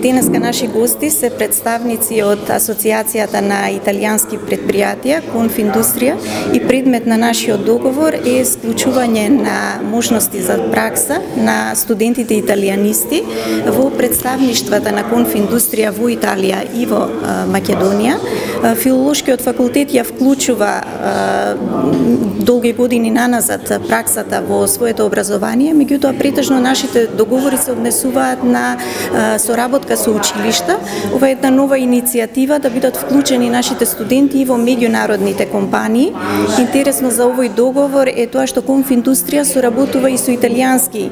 Денеска наши гости се представници од Асоциацијата на италијански предпријатија Конфиндустрија и предмет на нашиот договор е склучување на можности за пракса на студентите италијанисти во представништвата на Конфиндустрија во Италија и во Македонија. Филолошкиот факултет ја вклучува долги години наназад праксата во своето образование, меѓутоа претежно нашите договори се однесуваат на соработка со училишта. Ова е една нова иницијатива да бидат вклучени нашите студенти и во меѓународните компании. Интересно за овој договор е тоа што Конфиндустрија соработува и со италијански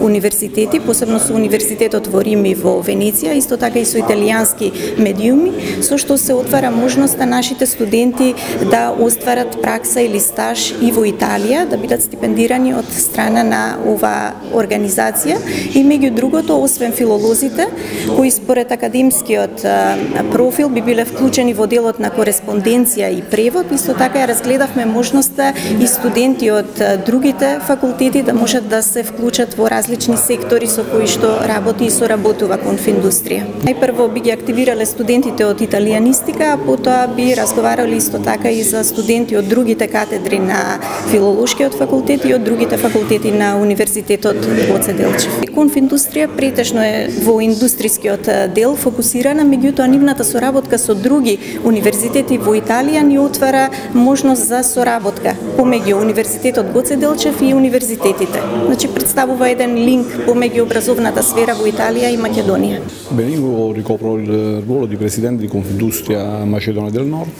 универзитети, посебно со универзитетот во Рим и во Венеција, исто така и со италијански медиуми, со што се отвара можноста нашите студенти да остварат пракса или стаж и во Италија, да бидат стипендирани од страна на ова организација и меѓу другото, освен филолозите, кои според академскиот профил би биле вклучени во делот на кореспонденција и превод, исто така ја разгледавме можноста и студенти од другите факултети да можат да се вклучат во различни сектори со кои што работи и соработува Конфиндустрија. Најпрво би ги активирале студентите од италијанистика, а потоа би разговарали исто така и за студенти од другите катедри на филолошкиот факултет и од другите факултети на Универзитетот Гоце Делчев. Конфиндустрија претежно е во индустрискиот дел фокусирана, меѓутоа нивната соработка со други универзитети во Италија ни отвара можност за соработка помеѓу Универзитетот Гоце Делчев и универзитетите. Значи представува еден линк помеѓу образовната сфера во Италија и Македонија. Io ricopro il ruolo di presidente di Confindustria Macedonia del Nord.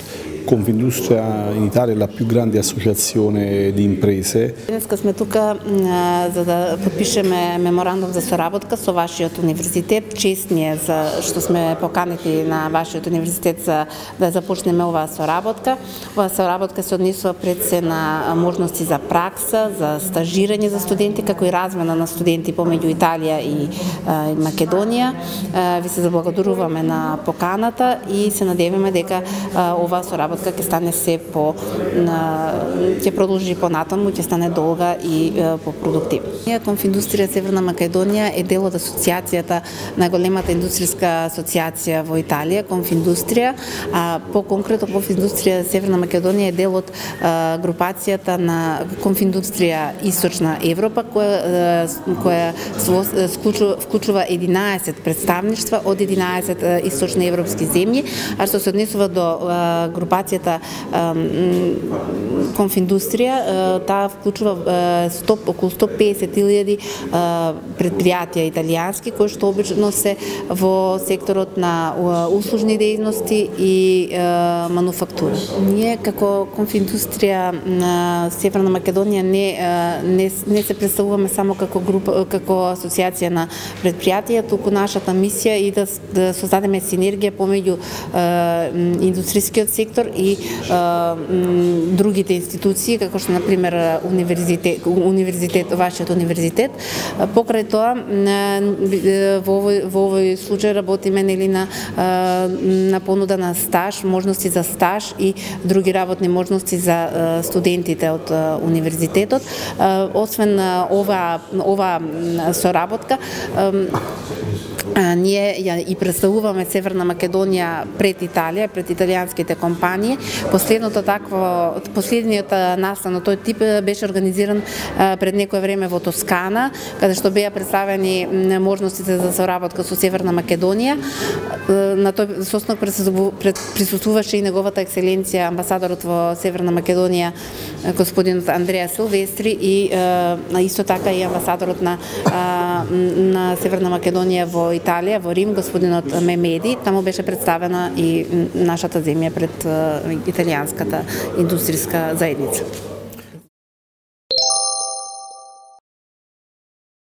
Confindustria in Italia è la più grande associazione di imprese. Денеска сме тука за да подпишеме меморандум за соработка со вашиот универзитет. Чест ни е за што сме поканети на вашиот универзитет за да започнеме оваа соработка. Оваа соработка се однесува пред се на можности за пракса, за стажирање за студенти, како и размена на студенти помеѓу Италија и Македонија. Ви се заблагодаруваме на поканата и се надеваме дека оваа соработка ќе стане се по ќе продолжи понатаму, ќе стане долга и по-продуктивна. Конфиндустрија Северна Македонија е дел од асоциацијата на големата индустријска асоциација во Италија, Конфиндустрија, а по-конкретно Конфиндустрија Северна Македонија е дел од групацијата на Конфиндустрија Источна Европа, која вклучува 11 представништва од 11 источни европски земји, а што се однесува до групацијата Конфиндустрија, таа вклучува околу 150.000 предпријатија италијански кои што обично се во секторот на услужни дејности и мануфактура. Ние како Конфиндустрија на Северна Македонија не се представуваме само како група, како асоциација на предпријатија, туку нашата мисија е да создадеме синергија помеѓу индустријскиот сектор и другите институции, како што например вашиот универзитет. Покрај тоа, во овој случај работиме на понуда на стаж, можности за стаж и други работни можности за студентите од универзитетот. Освен ова соработка, ние ја и представуваме Северна Македонија пред Италија, пред италијанските компании. Последниот настан на тој тип беше организиран пред некое време во Тоскана, каде што беа представени можностите за соработка со Северна Македонија. На тој состанок присуствуваше и неговата екселенција амбасадорот во Северна Македонија господинот Андреа Силвестри и исто така и амбасадорот на Северна Македонија во Италија, во Рим, господинот Мемеди. Таму беше представена и нашата земја пред италијанската индустријска заедница.